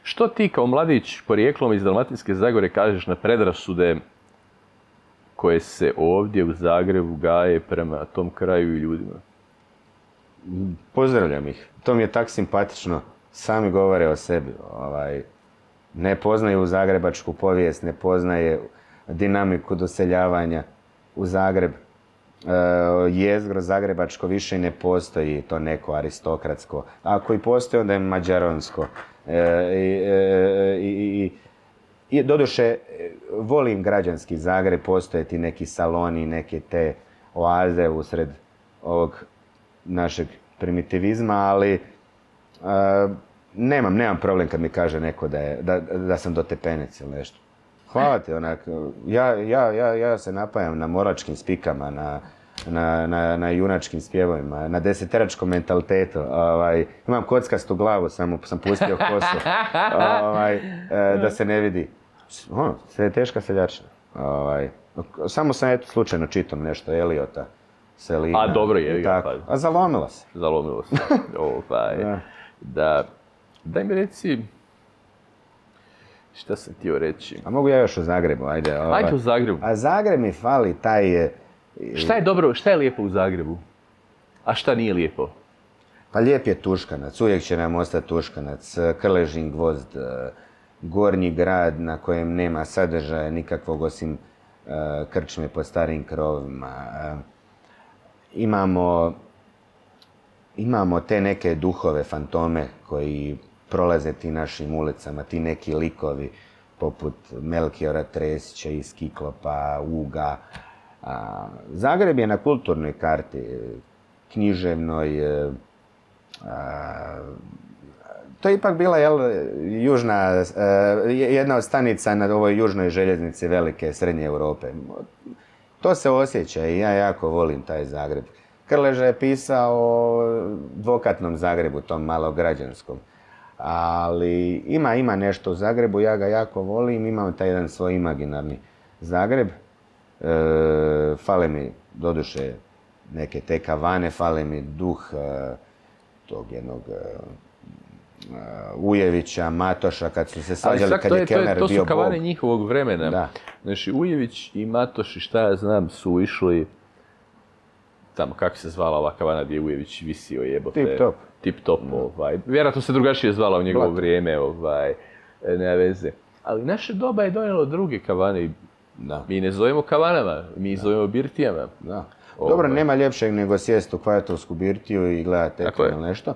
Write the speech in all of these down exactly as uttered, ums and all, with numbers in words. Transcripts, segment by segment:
Što ti kao mladić porijeklom iz Dalmatinske Zagore kažeš na predrasude koje se ovdje u Zagrebu gaje prema tom kraju i ljudima? Pozdravljam ih. To mi je tak simpatično. Sami govore o sebi. Ovaj, ne poznaju zagrebačku povijest, ne poznaje dinamiku doseljavanja u Zagreb. E, jezgro zagrebačko više ne postoji, to neko aristokratsko. Ako i postoji, onda je mađaronsko. E, e, i, i, i doduše, volim građanski Zagreb, postoje ti neki saloni, neke te oaze usred ovog našeg primitivizma, ali uh, nemam, nemam problem kad mi kaže neko da, je, da, da sam dotepenec ili nešto. Hvala ti, onak, ja, ja, ja, ja se napajam na moračkim spikama, na, na, na, na junačkim spjevovima, na deseteračkom mentalitetu. Ovaj, imam kockastu glavu, samo sam pustio kosu, ovaj, da se ne vidi. Ono, sve je teška seljačina. Ovaj, samo sam eto slučajno čitam nešto Eliota. Selina, a dobro je, pa. A zalomilo se. Zalomilo se. Ovaj, da. da. Daj mi reci, šta sam htio reći? A mogu ja još u Zagrebu, ajde. Ovaj. Ajde u Zagrebu. A Zagreb mi fali taj... Šta je dobro, šta je lijepo u Zagrebu? A šta nije lijepo? Pa lijep je Tuškanac, uvijek će nam ostati Tuškanac, Krležin gvozd, gornji grad na kojem nema sadržaja nikakvog osim uh, krčme po starim krovima. Uh, Imamo, imamo te neke duhove, fantome koji prolaze ti našim ulicama, ti neki likovi poput Melkiora Tresića iz Kiklopa, Uga. A, Zagreb je na kulturnoj karti, književnoj. A, to je ipak bila jel, južna, a, jedna od stanica na ovoj južnoj željeznici velike srednje Europe. To se osjeća i ja jako volim taj Zagreb. Krleža je pisao o dvokatnom Zagrebu, tom malograđanskom. Ali ima, ima nešto u Zagrebu, ja ga jako volim, imam taj jedan svoj imaginarni Zagreb. E, fale mi, doduše, neke te kavane, fale mi duh e, tog jednog e, Ujevića, Matoša, kad su se svađali, kad je, je Kellner bio bog. To su kavane njihovog vremena. Da. Znači, Ujević i Matoš i šta ja znam su išli tamo, kako se zvala ova kavana gdje je Ujević visio jebote. Tip top. Tip top, ovaj. Vjerojatno se drugačije zvala u njegovo Plat. vrijeme, ovaj, nema veze. Ali naše doba je donijelo druge kavane. Da. Mi ne zovemo kavanama, mi da. zovemo birtijama. Da. Dobro, ovaj. nema ljepšeg nego sjest u Kvajatovsku birtiju i gledati eto ili nešto.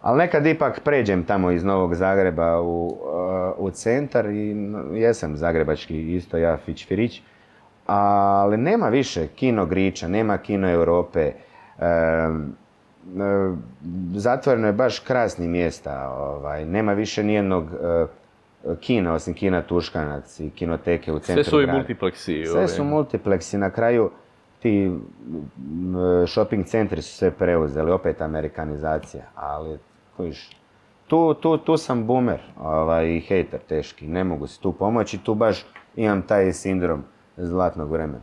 Ali nekad ipak pređem tamo iz Novog Zagreba u, uh, u centar i jesam zagrebački isto ja fić-firić. Ali nema više kino Griča, nema kino Europe. E, e, zatvoreno je baš krasnih mjesta. Ovaj, nema više nijednog e, kina, osim kina Tuškanac i kinoteke u centru grada. Sve su i multipleksi. Sve ove. su multipleksi. Na kraju ti shopping centri su sve preuzeli, opet amerikanizacija. Ali, kojiš, tu, tu, tu sam boomer ovaj, i hejter teški. Ne mogu si tu pomoći. Tu baš imam taj sindrom zlatnog vremena.